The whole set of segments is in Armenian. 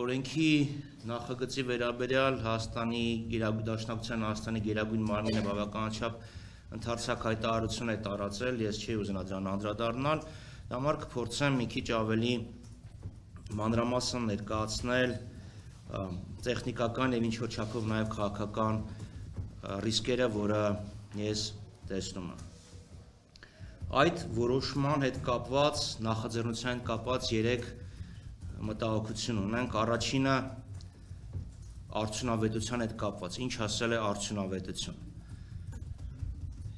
օրենքի նախագծի վերաբերյալ Հայաստանի Դաշնակցության Հայաստանի Գերագույն մարմինը բավականաչափ ընդարձակ հայտարարություն է տարածել, ես չի ուզենա դրան անդրադառնալ, դա համար կփորձեմ մի քիչ ավելի մանրամասն ներկայացնել տեխնիկական եւ ինչ-որ չափով նաեւ քաղաքական ռիսկերը, որը ես տեսնում եմ։ Այդ որոշման հետ կապված, նախաձեռնության հետ կապված 3 մտահոգություն ունենք, առաջինը արդյունավետության հետ կապված, ինչ ասել է արդյունավետություն։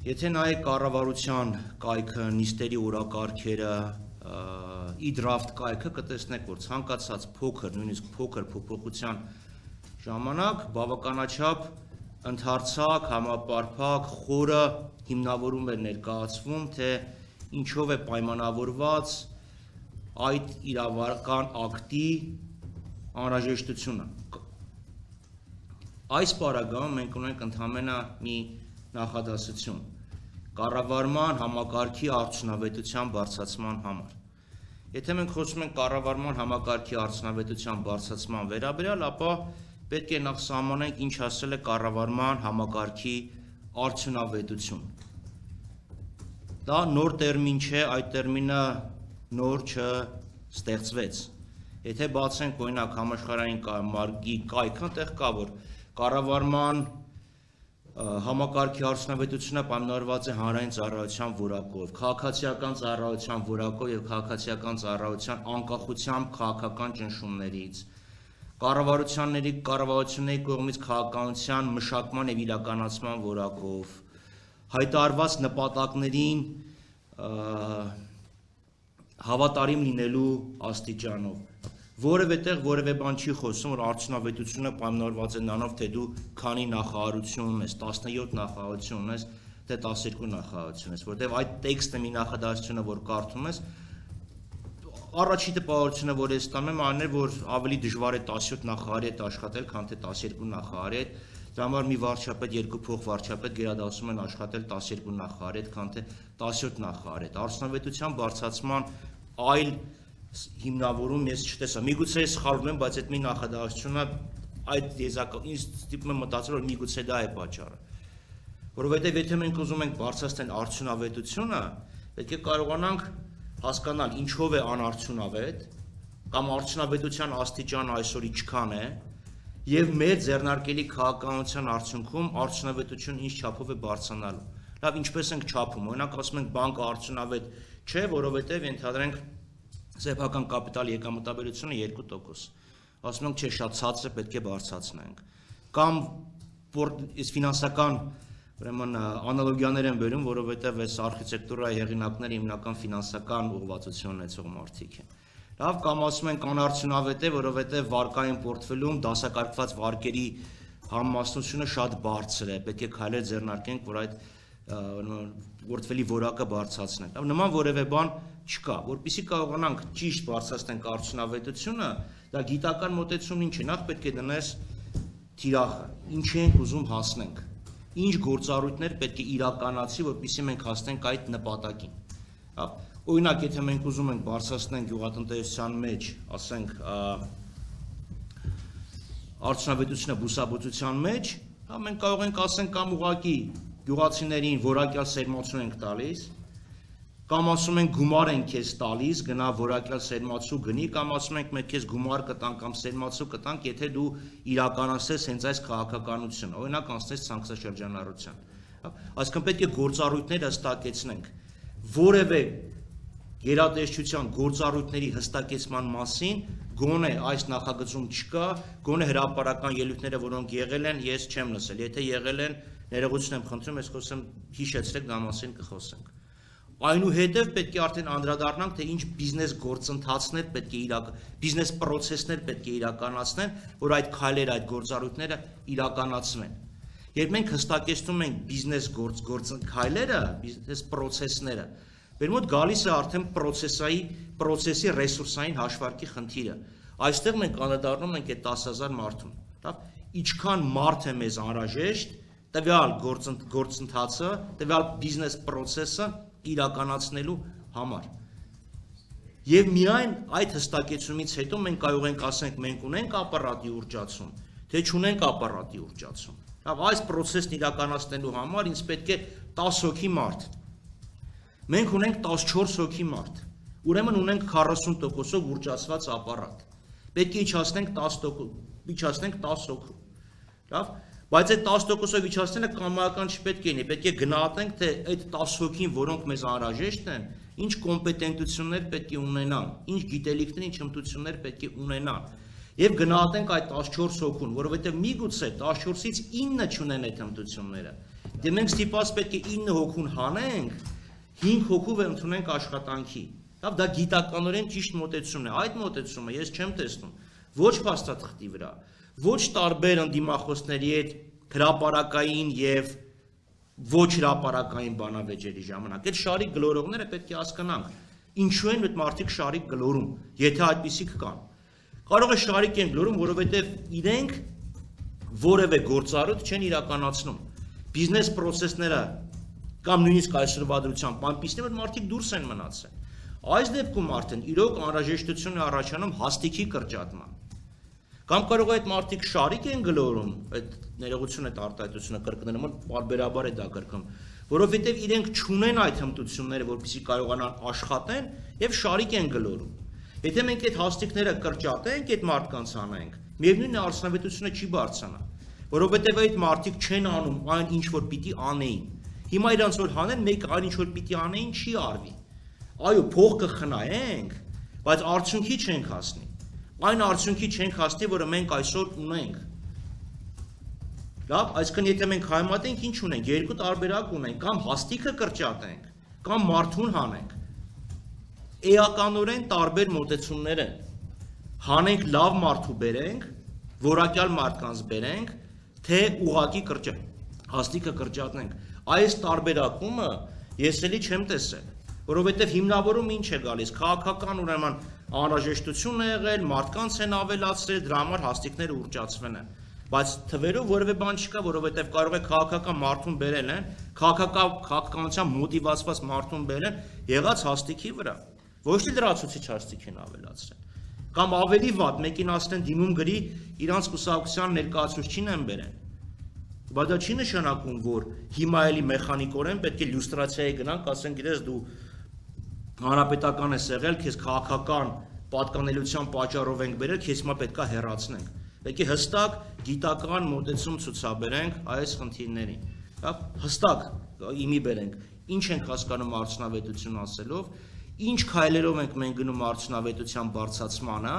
Եթե նայեք կառավարության կայքը, նիստերի օրակարգերը, e-draft կայքը, կտեսնեք, որ ցանկացած փոքր, նույնիսկ փոքր փոփոխության ժամանակ բավականաչափ ընդարձակ, համապարփակ, խորը հիմնավորում է ներկայացվում, թե ինչով է պայմանավորված այդ իրավական ակտի անհրաժեշտությունը։ Այս պարագայում մենք ունենք ընդհանրապես մի նախադասություն կառավարման համակարգի արդյունավետության բարձրացման համար։ Եթե մենք խոսում ենք կառավարման համակարգի արդյունավետության բարձրացման վերաբերյալ, ապա պետք է նախ սահմանենք ինչ ասել է կառավարման համակարգի արդյունավետություն։ Դա նոր տերմին չէ, այդ տերմինը նոր չստեղծվեց։ Եթե բացենք օրինակ համաշխարհային կարգի կայքը, այնտեղ կա որ կառավարման համակարգի արդյունավետությունը պայմանավորված է հանրային ծառայության որակով, քաղաքացիական ծառայության որակով եւ քաղաքացիական ծառայության անկախությամբ քաղաքական ճնշումներից, կառավարությունների կողմից քաղաքականության մշակման եւ իրականացման որակով, հայտարարված նպատակներին հավատարիմ լինելու աստիճանով, որևէ տեղ որևէ բան չի խոսում, որ արդյունավետությունը պայմանավորված է նրանով, թե դու քանի նախարարություն ունես, 17 նախարարություն ունես, թե 12 նախարարություն ես, որտեղ այդ տեքստը մի նախադասությունը, որ կարդում ես, առաջի տպավորությունը, որ ես տամ եմ, այն է, որ ավելի դժվար է 17 նախարարի հետ աշխատել, քան թե 12 նախարարի հետ, դրա համար մի վարչապետ, երկու փոխվարչապետ գերադասում են աշխատել 12 նախարարի հետ, քան թե 17 նախարարի հետ։ Արդյունավետության բարձրացման այլ հիմնավորում ես չտեսա։ Միգուցե ես սխալվում եմ, բայց այդ մի նախադասությունը այդ ինձ ստիպում է մտածել, որ միգուցե դա է պատճառը։ Որովհետև եթե մենք ուզում ենք բարձրացնել արդյունավետությունը, պետք է կարողանանք հասկանալ ինչով է անարդյունավետ կամ արդյունավետության աստիճանը այսօր ինչքան է եւ մեր ձեռնարկելի քաղաքականության արդյունքում արդյունավետությունը ինչ չափով է բարձրանալու։ Լավ, ինչպես ենք չափում, օրինակ ասում ենք բանկը արդյունավետ չէ, որովհետև ենթադրենք սեփական կապիտալի եկամտաբերությունը 2%։ Ասում ենք չէ, շատ ցածր է, պետք է բարձրացնենք։ Կամ ֆինանսական ուրեմն անալոգիաներ են բերում, որովհետև այս արխիտեկտուրայի հեղինակները հիմնական ֆինանսական ուղղվածություն ունեցող մարդիկ են։ Լավ, կամ ասում են անարդյունավետ է, որովհետև վարկային պորտֆելում դասակարգված վարկերի համամասնությունը շատ բարձր է, պետք է քայլեր ձեռնարկենք, որ այդ պորտֆելի որակը բարձրացնենք։ Նման որևէ բան չկա, որպեսզի կարողանանք ճիշտ բարձրացնենք արդյունավետությունը, դա գիտական մոտեցումն ինչ է, նախ պետք է դնես թիրախը, ինչ ենք ուզում հասնենք, ինչ գործառույթներ պետք է իրականացի, որպեսզի մենք հասնենք այդ նպատակին։ Օրինակ, եթե մենք ուզում ենք բարձրացնենք գյուղատնտեսության մեջ, ասենք, արդյունավետությունը բուսաբուծության մեջ, մենք կարող ենք ասենք կամ ուղղակի գյուղացիներին որակյալ սերմացու ենք տալիս, կամ ասում ենք գումար ենք քեզ տալիս, գնա որակյալ սերմացու գնի, կամ ասում ենք մենք քեզ գումար կտանք կամ սերմացու կտանք, եթե դու իրականացնես հենց այս քաղաքականությունը, օրինակ անցնես ցանքսաշրջանառության։ Այսինքն պետք է գործառույթները հստակեցնենք, որևէ գերատեսչության գործառույթների հստակեցման մասին գոնե այս նախագծում չկա, գոնե հրապարական ելույթները, որոնք եղել են, ես չեմ լսել, եթե եղել են, ներողություն եմ խնդրում, ես խոսեմ հիշեցրեք, դա մասին կխոսենք։ Այնուհետև պետք է արդեն անդրադառնանք, թե ինչ բիզնես գործընթացներ պետք է բիզնես պրոցեսներ պետք է իրականացնեն, որ այդ քայլերը, այդ գործառույթները իրականացվեն։ Երբ մենք հստակեցնում ենք բիզնես քայլերը, բիզնես պրոցեսները, մեր մոտ գալիս է արդեն պրոցեսի ռեսուրսային հաշվարկի խնդիրը։ Այստեղ մենք անդրադառնում ենք այդ 10,000 մարդուն։ Ինչքան մարդ է մեզ անհրաժեշտ տվյալ գործընթացը, տվյալ բիզնես պրոցեսը իրականացնելու համար։ Եվ միայն այդ հստակեցումից հետո մենք կարող ենք ասենք մենք ունենք ապարատի ուռճացում, թե չունենք ապարատի ուռճացում։ Այս process-ն իրականացնելու համար ինձ պետք է 10 հոգի մարդ։ Մենք ունենք 14 հոգի մարդ։ Ուրեմն ունենք 40%-ով ուռճացված ապարատ։ Պետք է իջացնենք 10 հոգու։ Լավ, բայց այդ 10%-ով իջացնելը կամայական չպետք է լինի, պետք է գնահատենք, թե այդ 10 հոգին, որոնք մեզ անհրաժեշտ են, ինչ կոմպետենտություններ պետք է ունենան, ինչ գիտելիքներ, ինչ հմտություններ պետք է ունենան։ Եվ գնահատենք այդ 14 հոգուն, որովհետև միգուցե 14-ից 9 չունեն այդ հմտությունները։ Դե մենք ստիպված պետք է 9 հոգուն հանենք, 5 հոգու ընդունենք աշխատանքի։ Լավ, դա գիտականորեն ճիշտ մոտեցումն է։ Այդ մոտեցումը ես չեմ տեսնում ոչ փաստաթղթի վրա, ոչ տարբեր ընդդիմախոսների հետ հրապարակային եւ ոչ հրապարակային բանավեճերի ժամանակ։ Այդ շարիկ գլորողները պետք է հասկանանք, ինչու են այդ մարդիկ շարիկ գլորում, եթե այդպիսիք կան։ Կարող է շարիկ են գլորում, որովհետև իրենք որևէ գործառույթ չեն իրականացնում։ Բիզնես process-ները կամ նույնիսկ այսօրվա դրությամբ այնպիսին որ մարդիկ դուրս են մնացել։ Այս դեպքում արդեն իրոք անհրաժեշտություն է առաջանում հաստիքի կրճատման։ Կամ կարող է այդ մարդիկ շարիկ են գլորում, այդ ներողություն այդ արտահայտությունը կրկնելը պարբերաբար է դա կրկնում, որովհետև իրենք չունեն այդ հմտությունները, որպեսզի կարողանան աշխատեն եւ շարիկ են գլորում։ Եթե մենք այդ հաստիկները կրճատենք, այդ մարդկանց անենք, միևնույնն է արդյունավետությունը չի բարձրանա, որովհետև այդ մարդիկ չեն անում այն ինչ որ պիտի անեին։ Հիմա իրանց որ հանեն, մեկ այն ինչ որ պիտի անեին չի արվի։ Այո, փող կխնայենք, բայց արդյունքի չենք հասնի։ Այն արդյունքի չենք հասնի, որը մենք այսօր ունենք։ Լավ, այսինքն եթե մենք համեմատենք, ինչ ունենք, երկու տարբերակ ունենք, կամ հաստիքը կրճատենք, կամ մարդուն հանենք։ Էականորեն տարբեր մոտեցումներ են։ Հանենք լավ մարդու բերենք, որակյալ մարդկանց բերենք, թե ուղակի հաստիքը կրճատենք։ Այս տարբերակումը ես էլի չեմ տեսել, որովհետև հիմնավորում ինչ է գալիս, քաղաքական ուրեմն անհրաժեշտություն է եղել, մարդկանց են ավելացրել, դրա համար հաստիկները ուռճացվել են։ Բայց թվերով որևէ բան չկա, որովհետև կարող է քաղաքական մարդուն բերել են, քաղաքականության մոտիվացված մարդուն բերել եղած հաստիքի վրա, ոչ թե լրացուցիչ հաստիք են ավելացրել։ Կամ ավելի վատ, մեկին ասեն դիմում գրի իրանց կուսակցության ներկայացուցչին են բերեն։ Բայց դա չի նշանակում, որ հիմա էլի մեխանիկորեն պետք է լյուստրացիայի գնանք, ասեն, գիտես դու հանրապետական ես եղել, քեզ քաղաքական պատկանելիության պատճառով ենք բերել, քեզ հիմա պետքա հեռացնենք։ Պետք է հստակ գիտական մոտեցում ցուցաբերենք այս խնդիրներին։ Հստակ իմի բերենք, ինչ ենք հասկանում արդյունավետություն ասելով, ինչ քայլերով ենք մենք գնում արդյունավետության բարձրացմանը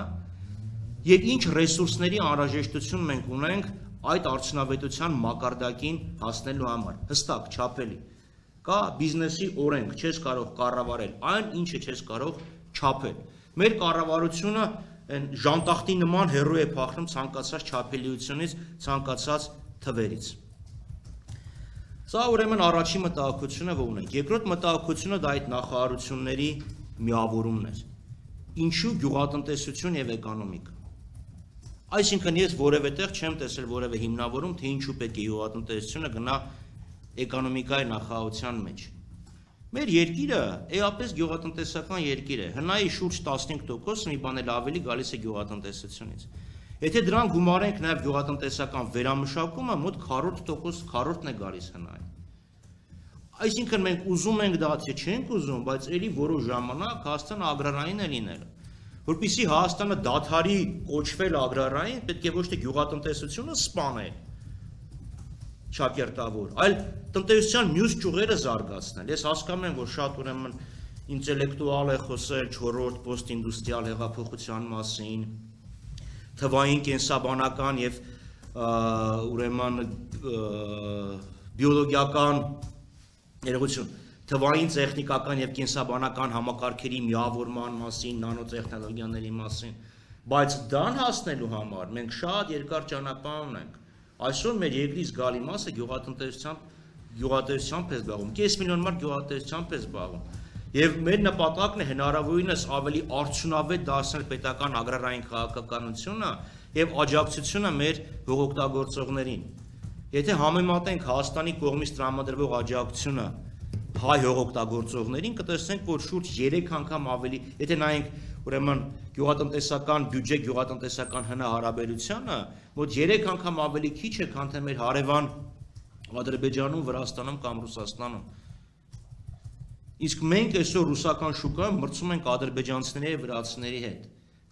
եւ ինչ ռեսուրսների անհրաժեշտություն մենք ունենք այդ արդյունավետության մակարդակին հասնելու համար, հստակ, չափելի։ Կա բիզնեսի օրենք, չես կարող կառավարել այն, ինչը չես կարող չափել։ Մեր կառավարությունը ժանտախտի նման հեռու է փախնում ցանկացած չափելիությունից, ցանկացած թվերից։ Սա ուրեմն առաջին մտահոգությունը, որ ունենք։ Երկրորդ մտահոգությունը դա այդ նախարարությունների միավորումն էր։ Ինչու գյուղատնտեսություն եւ էկոնոմիկա։ Այսինքն ես որևէ տեղ չեմ տեսել որևէ հիմնավորում, թե ինչու պետք է գյուղատնտեսությունը գնա էկոնոմիկայի նախարարության մեջ։ Մեր երկիրը էապես գյուղատնտեսական երկիր է, հնայի շուրջ 15% մի բան էլ ավելի գալիս է գյուղատնտեսությունից։ Եթե դրան գումարենք նաև գյուղատնտեսական վերամշակումը, մոտ 40% քառորդն է գալիս հնայի։ Այսինքն մենք ուզում ենք դա, թե չենք ուզում, բայց էլի որոշ ժամանակ Հայաստանը ագրարային է լինելու։ Որպեսզի Հայաստանը դադարի կոչվել ագրարային, պետք է ոչ թե գյուղատնտեսությունը սպանել, չակերտավոր, այլ տնտեսության մյուս ճյուղերը զարգացնել։ Ես հասկանում եմ, որ շատ ուրեմն ինտելեկտուալ է խոսել 4-րդ պոստինդուստրիալ հեղափոխության մասին, թվային կենսաբանական եւ ուրեմն բիոլոգիական ներողություն, թվային տեխնիկական եւ կենսաբանական համակարգերի միավորման մասին, նանոտեխնոլոգիաների մասին, բայց դրան հասնելու համար մենք շատ երկար ճանապարհ ունենք։ Այսօր մեր երկրի զգալի մասը գյուղատնտեսությամբ է զբաղվում, կես միլիոն մարդ գյուղատնտեսությամբ է զբաղվում։ Եվ մեր նպատակն է հնարավորինս ավելի արդյունավետ դարձնել պետական ագրարային քաղաքականությունը եւ աջակցությունը մեր հողօգտագործողներին։ Եթե համեմատենք Հայաստանի կողմից տրամադրվող աջակցությունը հայ հողօգտագործողներին կտեսնենք, որ շուրջ 3 անգամ ավելի, եթե նայենք ուրեմն գյուղատնտեսական բյուջե, գյուղատնտեսական հնարավորությունը, մոտ 3 անգամ ավելի քիչ է, քան թե մեր հարևան Ադրբեջանում, Վրաստանում կամ Ռուսաստանում։ Իսկ մենք այսօր ռուսական շուկայում մրցում ենք ադրբեջանցիների եւ վրացիների հետ։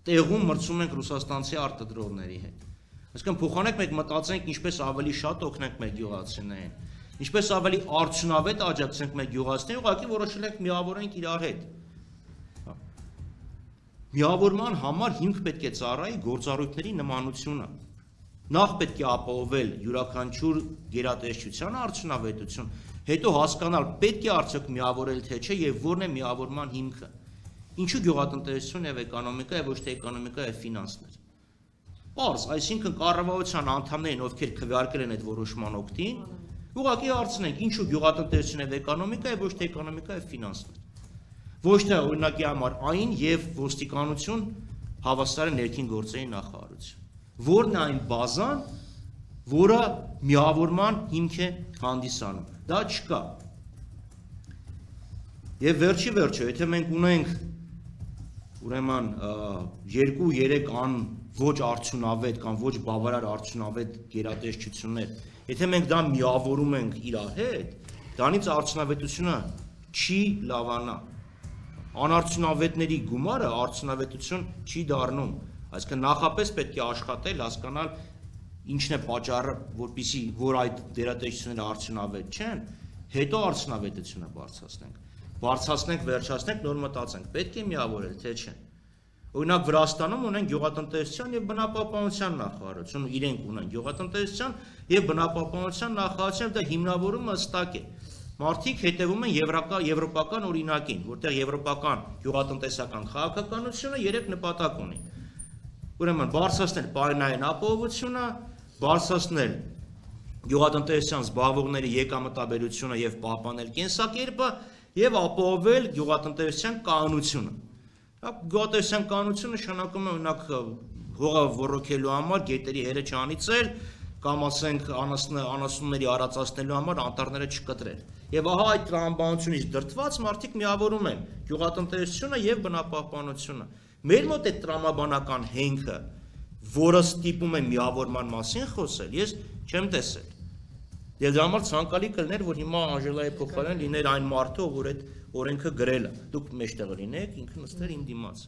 Տեղում մրցում ենք ռուսաստանցի արտադրողների հետ։ Այսինքն փոխանակ մենք մտածենք ինչպես ավելի շատ օգնենք մեր գյուղացիներին, ինչպես ավելի արդյունավետ աջակցենք մեր գյուղացիներին, ուղղակի որոշել ենք միավորենք իրար հետ։ Միավորման համար հիմք պետք է ծառայի գործառույթների նմանությունը։ Նախ պետք է ապահովել յուրաքանչյուր գերատեսչության արդյունավետություն, հետո հասկանալ պետք է արդյոք միավորել թե չէ եւ որն է միավորման հիմքը։ Ինչու գյուղատնտեսություն եւ էկոնոմիկա եւ ոչ թե էկոնոմիկա եւ ֆինանսներ։ Պարզ, այսինքն կառավարության անդամներին, ովքեր քվեարկել են այդ որոշման օգտին, ուղղակի հարցնենք, ինչու գյուղատնտեսություն եւ էկոնոմիկա եւ ոչ թե էկոնոմիկա եւ ֆինանսներ։ Ոչ թե օրինակի համար այն եւ ոստիկանություն հավասար է ներքին գործերի նախարարություն։ Որն է այն բազան, որը միավորման հիմք է հանդիսանում։ Դա չկա։ Եվ վերջը, եթե մենք ունենք ուրեմն 2-3 ոչ արդյունավետ կամ ոչ բավարար արդյունավետ գերատեսչություններ, եթե մենք դա միավորում ենք իրար հետ, դրանից արդյունավետությունը չի լավանա։ Անարդյունավետների գումարը արդյունավետություն չի դառնում, այսինքն նախապես պետք է աշխատել, հասկանալ ինչն է պատճառը, որպեսզի որ այդ գերատեսչությունները արդյունավետ չեն, հետո արդյունավետությունը բարձրացնենք, վերջացնենք, նոր մտածենք, պետք է միավորել, թե չէ։ Օրինակ Վրաստանում ունեն գյուղատնտեսության եւ բնապահպանության նախարարություն, իրենք ունեն գյուղատնտեսության եւ բնապահպանության նախարարություն, դա հիմնավորումը հստակ է։ Մարդիկ հետևում են եվրոպական օրինակին, որտեղ եվրոպական գյուղատնտեսական քաղաքականությունը 3 նպատակ ունի։ Ուրեմն բարձրացնել պայմանային ապահովությունը, բարձրացնել գյուղատնտեսության զբաղվողների եկամտաբերությունը եւ պահպանել կենսակերպը եւ ապահովել գյուղատնտեսության կանոնությունը։ Գյուղատնտեսության կանոնությունը նշանակում է օրինակ հողը ոռոգելու համար գետերի հերը չանիծել կամ ասենք անասունների արածացնելու համար անտառները չկտրել։ Եվ ահա այդ տրամաբանությունից դրդված մարդիկ միավորում են գյուղատնտեսությունը եւ բնապահպանությունը։ Մեր մոտ այդ տրամաբանական հենքը, որը ստիպում է միավորման մասին խոսել, ես չեմ տեսել։ Եվ դրա համար ցանկալի կլիներ, որ հիմա Անժելայի փոխարեն լիներ այն մարդը, որ այդ օրենքը գրել է։ Դուք մեջտեղ լինեք, ինքը նստեր իմ դիմաց։